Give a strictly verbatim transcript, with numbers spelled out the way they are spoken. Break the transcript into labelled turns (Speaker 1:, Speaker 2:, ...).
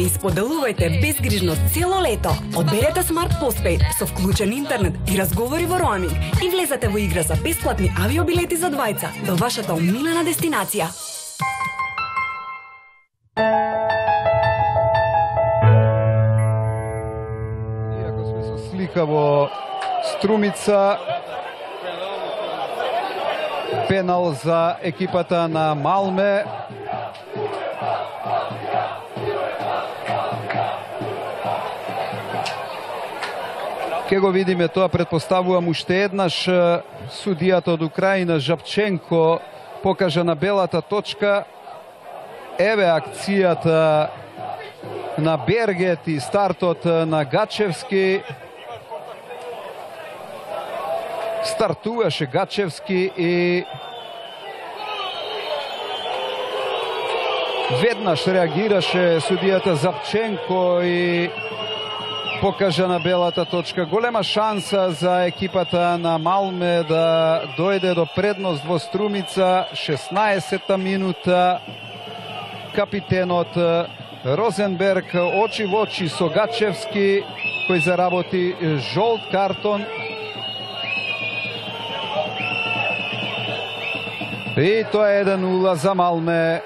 Speaker 1: и споделувајте безгрижно цело лето. Одберете Smart Postpaid со вклучен интернет и разговори во роаминг и влезете во игра за бесплатни авиобилети за двајца до вашата омилена дестинација.
Speaker 2: Иако сме со слика во Струмица, пенал за екипата на Малме. Ке го видиме тоа, предпоставувам уште еднаш. Судијата од Украина Жапченко покажа на белата точка. Еве акцијата на Бергет и стартот на Гачевски. Стартуваше Гачевски и веднаш реагираше судијата Жапченко и покажа на белата точка. Голема шанса за екипата на Малме да дојде до предност во Струмица. шеснаесетта минута. Капитенот Розенберг очи во очи со Гачевски, кој заработи жолт картон. И тоа е еден нула за Малме.